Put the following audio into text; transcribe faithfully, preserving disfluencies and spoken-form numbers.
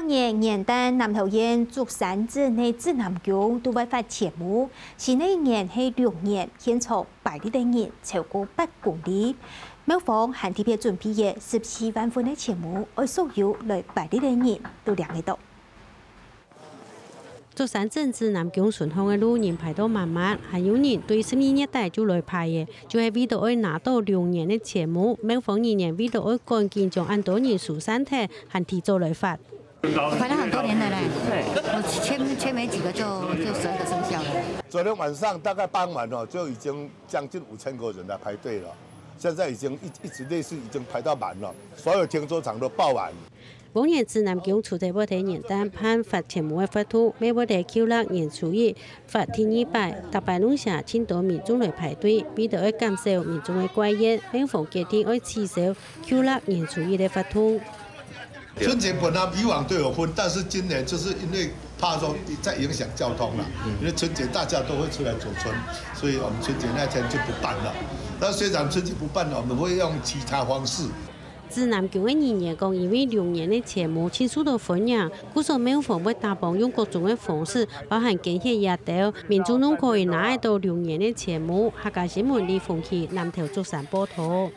年元旦南投縣竹山鎮个指南宮都會發錢母，新个一年係龍年，現場排列个人超過八公里。廟方還特別準備个十四萬份个錢母，愛所有來排列个人都領得到。竹山鎮指南宮巡行个路人排到滿滿，還有人對十二月底就來排个，就係為著愛拿到龍年个錢母，廟方人員為著愛趕緊將恁多人疏散忒，還提早來發。 排了很多年了嘞，我前前没几个就就十二个生肖了。昨天晚上大概傍晚哦，就已经将近五千个人来排队了，现在已经一一直类似已经排到满了，所有停车场都爆满。往年指南宮除了會在元旦辦發錢母个活動，乜會在舊曆年初一發第二擺，逐擺攏寫盡多民眾來排隊，為著愛減少民眾个怪怨，廟方決定愛取消舊曆年初一个活動。 春節本來以往都有分，但是今年就是因为怕说再影响交通了，因为春节大家都会出来走春，所以我们春节那天就不办了。那虽然春节不办了，我们会用其他方式。指南宮个人員講，因為龍年个錢母盡受到歡迎，故所廟方會打幫用各種个方式，包含捐血這兜，民眾攏可以拿得到龍年个錢母。客家新聞李鳳琪南投竹山報導。